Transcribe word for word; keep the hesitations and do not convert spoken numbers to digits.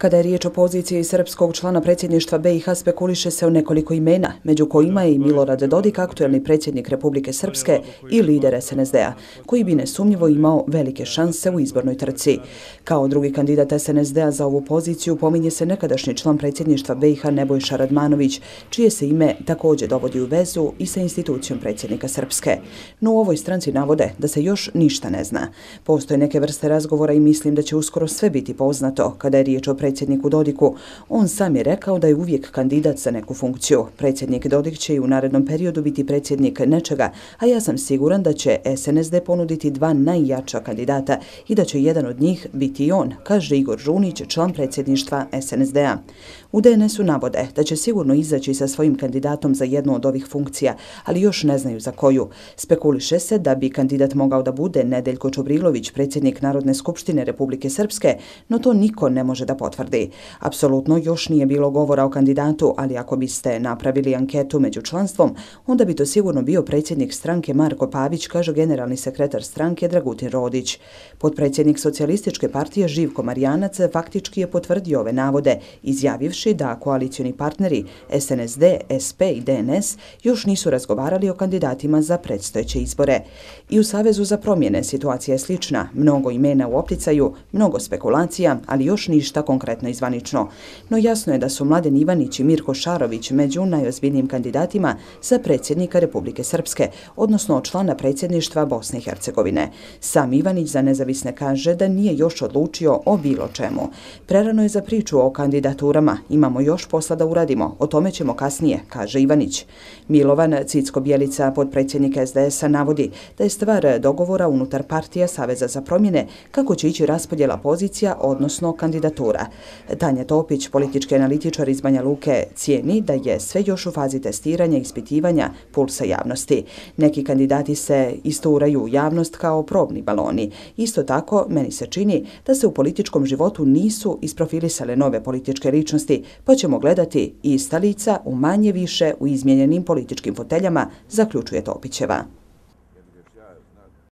Kada je riječ o poziciji srpskog člana predsjedništva B i H, spekuliše se o nekoliko imena, među kojima je i Milorad Dodik, aktuelni predsjednik Republike Srpske i lider S N S D-a, koji bi nesumnjivo imao velike šanse u izbornoj trci. Kao drugi kandidat S N S D-a za ovu poziciju pominje se nekadašnji član predsjedništva B i H Nebojša Radmanović, čije se ime također dovodi u vezu i sa institucijom predsjednika Srpske. No u ovoj stranci navode da se još ništa ne zna. Postoje neke vrste razgovora i mislim da će uskoro sve biti poznato kada je riječ o predsjedniku Dodiku. On sam je rekao da je uvijek kandidat za neku funkciju. Predsjednik Dodik će i u narednom periodu biti predsjednik nečega, a ja sam siguran da će S N S D ponuditi dva najjača kandidata i da će jedan od njih biti i on, kaže Igor Žunić, član predsjedništva S N S D-a. U D N S-u navode da će sigurno izaći sa svojim kandidatom za jednu od ovih funkcija, ali još ne znaju za koju. Spekuliše se da bi kandidat mogao da bude Nedeljko Čobrilović, predsjednik Narodne skupštine Republike Srpske, no to niko ne može da potvrdi. Apsolutno još nije bilo govora o kandidatu, ali ako biste napravili anketu među članstvom, onda bi to sigurno bio predsjednik stranke Marko Pavić, kaže generalni sekretar stranke Dragutin Rodić. Potpredsjednik Socijalističke partije Živko Marijanac faktički je potvrdio ove navode, izjavivši da koalicioni partneri S N S D, S P i D N S još nisu razgovarali o kandidatima za predstojeće izbore. I u Savezu za promjene situacija je slična, mnogo imena u opticaju, mnogo spekulacija, ali još ništa konkretno i zvanično. No jasno je da su Mladen Ivanić i Mirko Šarović među najozbiljnijim kandidatima za predsjednika Republike Srpske, odnosno člana predsjedništva Bosne i Hercegovine. Sam Ivanić za nezavisne kaže da nije još odlučio o bilo čemu. Prerano je za priču o kandidaturama, imamo još posla da uradimo, o tome ćemo kasnije, kaže Ivanić. Milovan Cicko-Bjelica, potpredsjednik S D S-a, navodi da je stvar dogovora unutar partija Saveza za promjene kako će ići raspodjela pozicija, odnosno kandidatura. Tanja Topić, politički analitičar iz Banja Luke, cijeni da je sve još u fazi testiranja i ispitivanja pulsa javnosti. Neki kandidati se isturaju u javnost kao probni baloni. Isto tako, meni se čini da se u političkom životu nisu isprofilisale nove političke ličnosti, pa ćemo gledati ista lica u manje više u izmijenjenim političkim foteljama, zaključuje Topićeva.